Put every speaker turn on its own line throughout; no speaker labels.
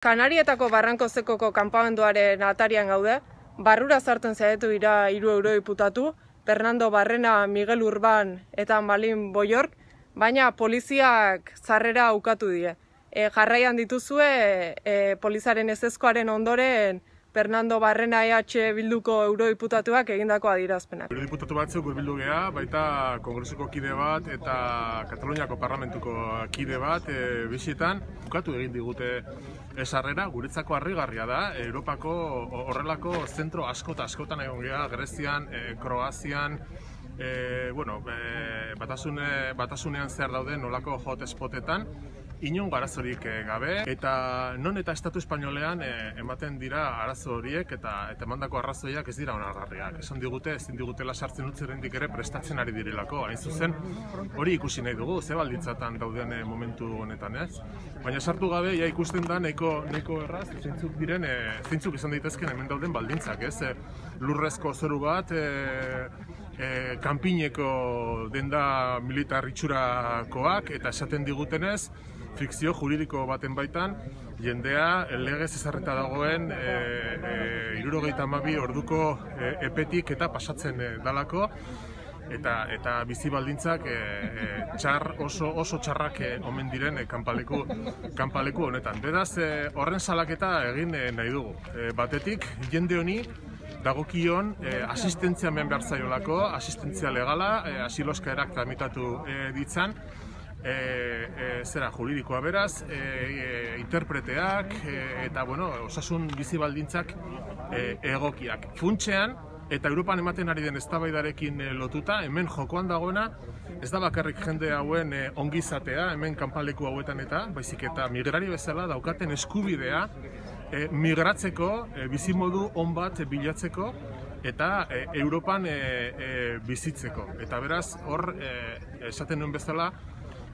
Kanarietako Barrankozekoko kanpamenduaren atarian gaude, barrura sartzen saiatu dira 3 eurodiputatu, Fernando Barrena, Miguel Urban eta Malin Boyork, baina poliziak sarrera ukatu die. Jarraian dituzue polizaren ezezkoaren ondoren Fernando Barrena EH Bilduko eurodiputatuak egindako adierazpenak.
Eurodiputatu batzuk hurbildu gea, baita Kongresuko kide bat eta Kataluniako Parlamentuko kide bat bisitan ukatu egin digute sarrera. Guretzako harrigarria da, Europako horrelako zentro askotan egon gea, Grezian, Kroazian, batasunean zehar dauden nolako hotspotetan, inongo arazorik gabe, eta non eta Estatu Espainolean ematen dira arazo horiek eta emandako arrazoiak ez dira onargarriak. Esan digute, ezin digutela sartzen utzi oraindik ere prestatzen ari direlako. Hain zuzen, hori ikusi nahi dugu, ze baldintzatan dauden momentu honetan, ez? Baina sartu gabe, ja ikusten da nahiko erraz, zeintzuk izan daitezken hemen dauden baldintzak, ez? Lurrezko zoru bat, kanpineko denda militar itxurakoak, eta esaten digutenez, fikzio juridiko baten baitan, jendea legez ezarrita dagoen 72 orduko epetik eta pasatzen dalako, eta bizi baldintzak oso txarrak omen diren kanpaleku honetan. Beraz, horren salaketa egin nahi dugu. Batetik, jende honi dagokion asistentzia hemen behar zaiolako, asistentzia legala, asiloskaerak tramitatu ditzan, juridikoa beraz, interpreteak eta osasun bizi baldintzak egokiak. Funtsean, eta Europan ematen ari den eztabaidarekin lotuta, hemen jokoan dagoena, ez da bakarrik jende hauen ongizatea, hemen kanpaleku hauetan eta, baizik eta migrari bezala daukaten eskubidea migratzeko, bizimodu on bat bilatzeko, eta Europan bizitzeko. Eta beraz, hor, esaten nuen bezala,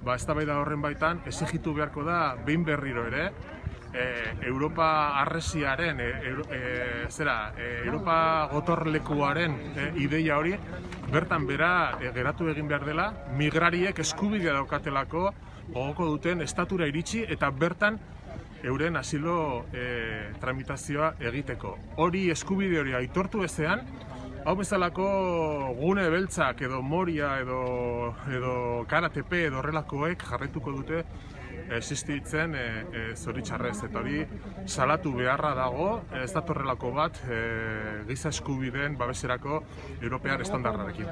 eztabaida horren baitan, exigitu beharko da, behin berriro ere, Europa arresiaren, Europa gotorlekuaren ideia hori, bertan bera geratu egin behar dela, migrariek eskubidea daukatelako, gogoko duten estatura iritsi, eta bertan euren asilo tramitazioa egiteko. Hori eskubide hori aitortu ezean, hau bezalako gune beltzak edo Moria edo Karatepe edo horrelakoek jarraituko dute existitzen zoritxarrez. Eta hori salatu beharra dago, ez datorrelako bat giza eskubideen babeserako europear estandarrarekin.